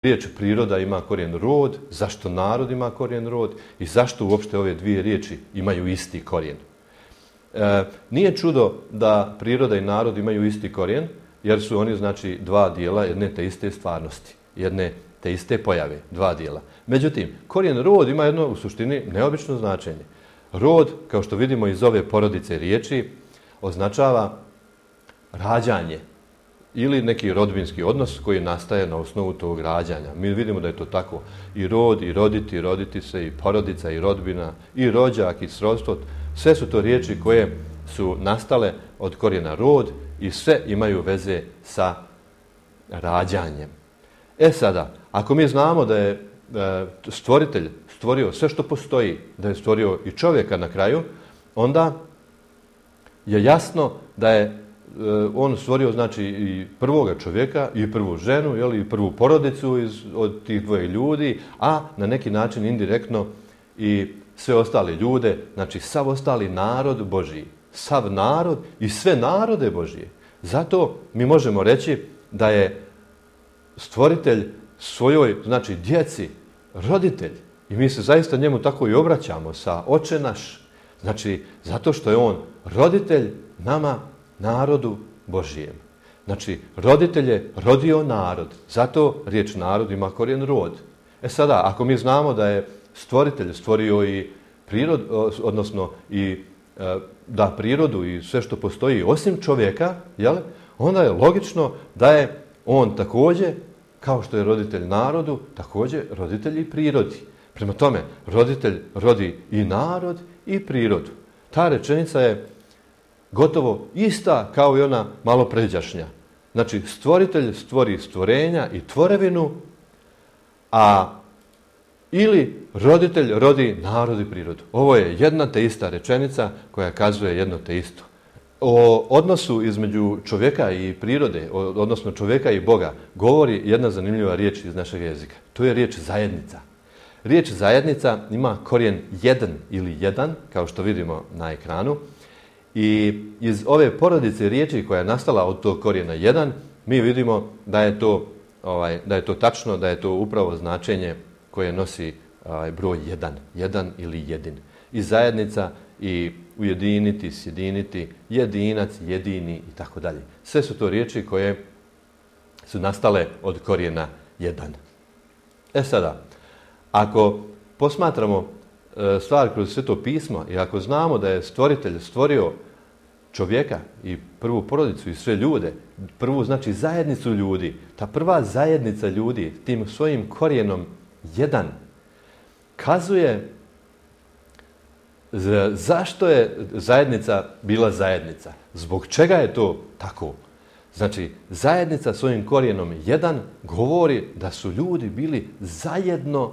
riječ priroda ima korijen rod, zašto narod ima korijen rod i zašto uopšte ove dvije riječi imaju isti korijen. Nije čudo da priroda i narod imaju isti korijen, jer su oni znači dva dijela jedne te iste stvarnosti, jedne te iste pojave, dva dijela. Međutim, korijen rod ima jedno u suštini neobično značenje. Rod, kao što vidimo iz ove porodice riječi, označava rađanje ili neki rodbinski odnos koji nastaje na osnovu tog rađanja. Mi vidimo da je to tako i rod, i roditi, i roditi se, i porodica, i rodbina, i rođak, i srodstvo. Sve su to riječi koje su nastale od korijena rod i sve imaju veze sa rađanjem. Sada, ako mi znamo da je stvoritelj stvorio sve što postoji, da je stvorio i čovjeka na kraju, onda je jasno da je on stvorio znači i prvoga čovjeka i prvu ženu, i prvu porodicu od tih dvoje ljudi, a na neki način indirektno i sve ostale ljude, znači sav ostali narod Božji, sav narod i sve narode Božje. Zato mi možemo reći da je stvoritelj svojoj, znači djeci, roditelj. I mi se zaista njemu tako i obraćamo sa Oče naš. Znači, zato što je on roditelj nama, narodu Božijem. Znači, roditelj je rodio narod. Zato riječ narod ima korijen rod. Sada, ako mi znamo da je stvoritelj stvorio i prirodu, odnosno i da prirodu i sve što postoji osim čovjeka, onda je logično da je on također, kao što je roditelj narodu, također roditelj i prirodi. Prema tome, roditelj rodi i narod i prirodu. Ta rečenica je gotovo ista kao i ona malo pređašnja. Znači, stvoritelj stvori stvorenja i tvorevinu, ili roditelj rodi narod i prirodu. Ovo je jedna te ista rečenica koja kazuje jedno te isto. O odnosu između čovjeka i prirode, odnosno čovjeka i Boga, govori jedna zanimljiva riječ iz našeg jezika. To je riječ zajednica. Riječ zajednica ima korijen jedan ili jedan, kao što vidimo na ekranu. I iz ove porodice riječi koja je nastala od tog korijena jedan, mi vidimo da je to tačno, da je to upravo značenje koje nosi broj jedan. Jedan ili jedin. I zajednica, i ujediniti, sjediniti, jedinac, jedini i tako dalje. Sve su to riječi koje su nastale od korijena jedan. Sada, ako posmatramo stvar kroz Sveto pismo i ako znamo da je stvoritelj stvorio čovjeka i prvu porodicu i sve ljude, prvu znači zajednicu ljudi, ta prva zajednica ljudi tim svojim korijenom jedan kazuje zašto je zajednica bila zajednica, zbog čega je to tako. Znači, zajednica svojim korijenom jedan govori da su ljudi bili zajedno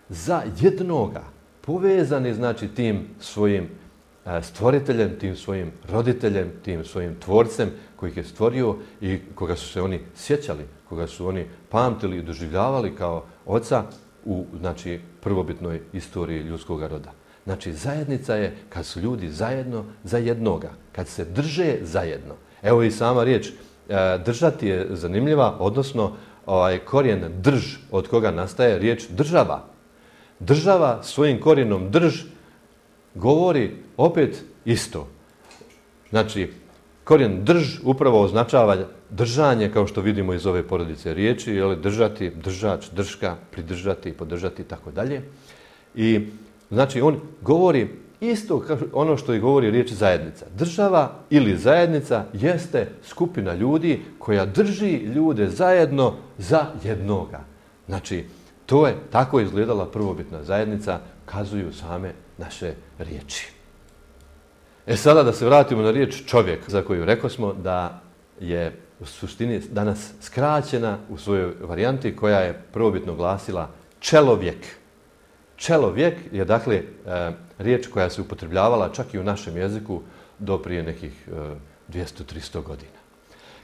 za jednoga, povezani znači tim svojim stvoriteljem, tim svojim roditeljem, tim svojim tvorcem koji ih je stvorio i koga su se oni sjećali, koga su oni pamtili i doživljavali kao oca u znači, prvobitnoj istoriji ljudskog roda. Znači, zajednica je kad su ljudi zajedno za jednoga, kad se drže zajedno. Evo i sama riječ držati je zanimljiva, odnosno korijen drž od koga nastaje riječ država. Država svojim korijenom drž govori opet isto. Znači, korijen drž upravo označava držanje, kao što vidimo iz ove porodice riječi, držati, držač, drška, pridržati, podržati i tako dalje. I znači, on govori isto ono što i govori riječ zajednica. Država ili zajednica jeste skupina ljudi koja drži ljude zajedno za jednoga. Znači, to je tako izgledala prvobitna zajednica, kazuju same naše riječi. Sada da se vratimo na riječ čovjek, za koju rekosmo da je u suštini danas skraćena u svojoj varijanti koja je prvobitno glasila čelovjek. Čelovjek je dakle riječ koja se upotrebljavala čak i u našem jeziku do prije nekih 200-300 godina.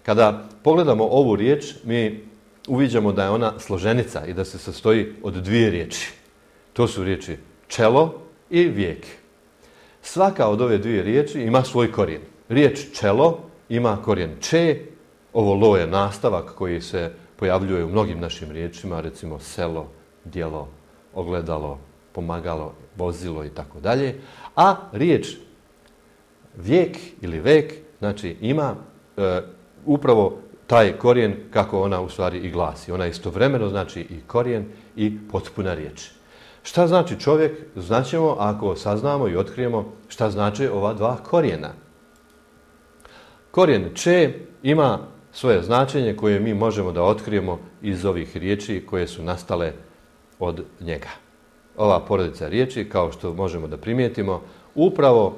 Kada pogledamo ovu riječ, mi uviđamo da je ona složenica i da se sastoji od dvije riječi. To su riječi čelo i vijek. Svaka od ove dvije riječi ima svoj korijen. Riječ čelo ima korijen če, ovo lo je nastavak koji se pojavljuje u mnogim našim riječima, recimo selo, djelo, ogledalo, pomagalo, vozilo i tako dalje. A riječ vijek ili vek, znači ima upravo taj korijen kako ona u stvari i glasi. Ona istovremeno znači i korijen i potpuna riječ. Šta znači čovjek? Znaćemo ako saznamo i otkrijemo šta znači ova dva korijena. Korijen če ima svoje značenje koje mi možemo da otkrijemo iz ovih riječi koje su nastale od njega. Ova porodica riječi, kao što možemo da primijetimo, upravo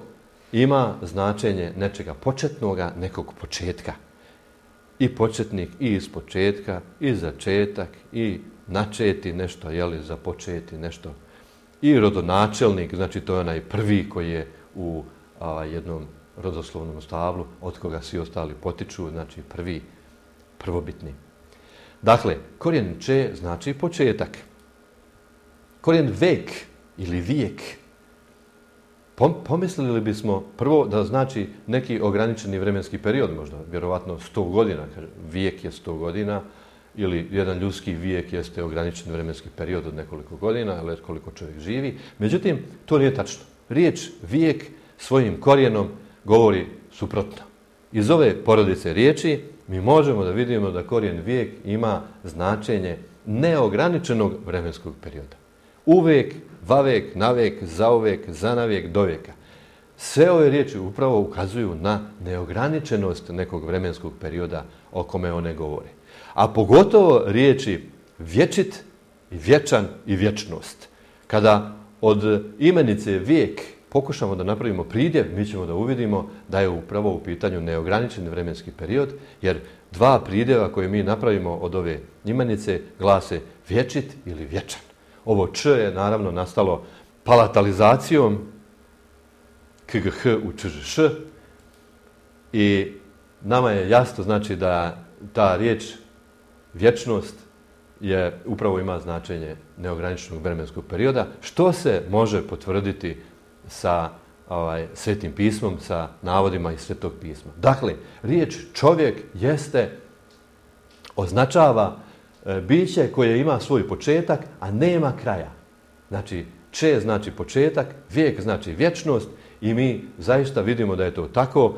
ima značenje nečega početnoga, nekog početka. I početnik, i iz početka, i začetak, i načeti nešto, započeti nešto. I rodonačelnik, znači to je onaj prvi koji je u jednom rodoslovnom stablu, od koga svi ostali potiču, znači prvobitni. Dakle, korijen če znači početak. Korijen vek ili vijek, pomislili bismo prvo da znači neki ograničeni vremenski period, možda vjerovatno 100 godina, vijek je 100 godina, ili jedan ljudski vijek jeste ograničen vremenski period od nekoliko godina, ali koliko čovjek živi. Međutim, to nije tačno. Riječ vijek svojim korijenom govori suprotno. Iz ove porodice riječi mi možemo da vidimo da korijen vijek ima značenje neograničenog vremenskog perioda. Uvek, vavek, navek, zauvek, zanavek, doveka. Sve ove riječi upravo ukazuju na neograničenost nekog vremenskog perioda o kome one govore. A pogotovo riječi vječit i vječan i vječnost. Kada od imenice vijek pokušamo da napravimo pridjev, mi ćemo da uvidimo da je upravo u pitanju neograničen vremenski period, jer dva pridjeva koje mi napravimo od ove imenice glase vječit ili vječan. Ovo č je naravno nastalo palatalizacijom kgh u čžš i nama je jasno znači da ta riječ vječnost je upravo ima značenje neograničenog vremenskog perioda, što se može potvrditi sa Svetim pismom, sa navodima iz Svetog pisma. Dakle, riječ čovjek označava biće koje ima svoj početak, a nema kraja. Znači, če znači početak, vijek znači vječnost i mi zaista vidimo da je to tako,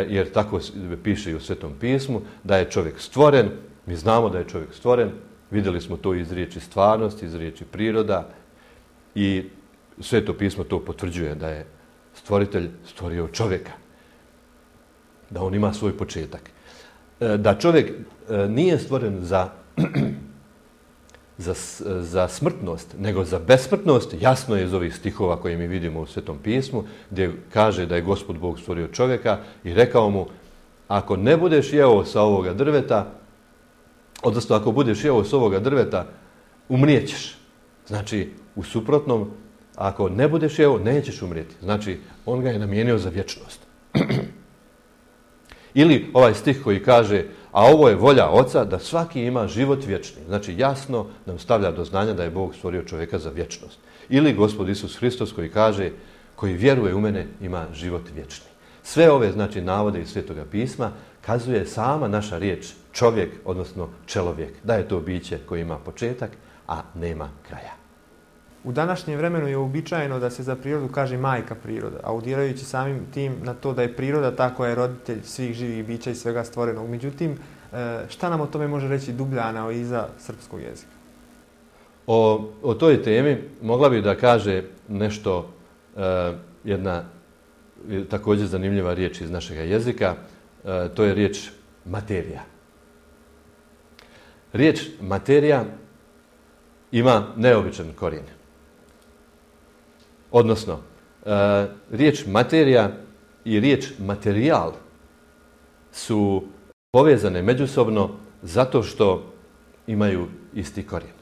jer tako piše i u Svetom pismu, da je čovjek stvoren. Mi znamo da je čovjek stvoren, vidjeli smo to iz riječi stvarnost, iz riječi priroda i Sveto pismo to potvrđuje da je stvoritelj stvorio čovjeka, da on ima svoj početak. Da čovjek nije stvoren za smrtnost, nego za besmrtnost, jasno je iz ovih stihova koje mi vidimo u Svetom pismu, gdje kaže da je Gospod Bog stvorio čovjeka i rekao mu, ako ne budeš jeo sa ovoga drveta, odnosno ako budeš jeo s ovoga drveta, umrijećeš. Znači, u suprotnom, ako ne budeš jeo, nećeš umrijeti. Znači, on ga je namijenio za vječnost. Ili ovaj stih koji kaže, a ovo je volja Oca da svaki ima život vječni. Znači, jasno nam stavlja do znanja da je Bog stvorio čovjeka za vječnost. Ili Gospod Isus Hristos koji kaže, koji vjeruje u mene ima život vječni. Sve ove, znači, navode iz Svetoga pisma kazuje sama naša riječ čovjek, odnosno čelovjek, da je to biće koje ima početak, a nema kraja. U današnjem vremenu je uobičajeno da se za prirodu kaže majka priroda, audirajući samim tim na to da je priroda ta koja je roditelj svih živih bića i svega stvorenog. Međutim, šta nam o tome može reći dublja analiza srpskog jezika? O toj temi mogla bi da kaže nešto jedna također zanimljiva riječ iz našega jezika, to je riječ materija. Riječ materija ima neobičan korijen. Odnosno, riječ materija i riječ materijal su povezane međusobno zato što imaju isti korijen.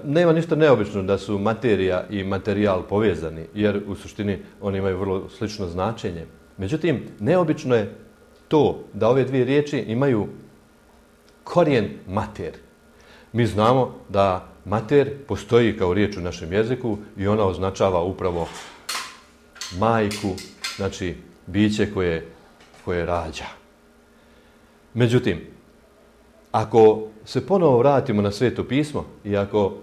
Nema ništa neobično da su materija i materijal povezani, jer u suštini oni imaju vrlo slično značenje. Međutim, neobično je to da ove dvije riječi imaju korijen mater. Mi znamo da mater postoji kao riječ u našem jeziku i ona označava upravo majku, znači biće koje rađa. Međutim, ako se ponovo vratimo na Sveto pismo i ako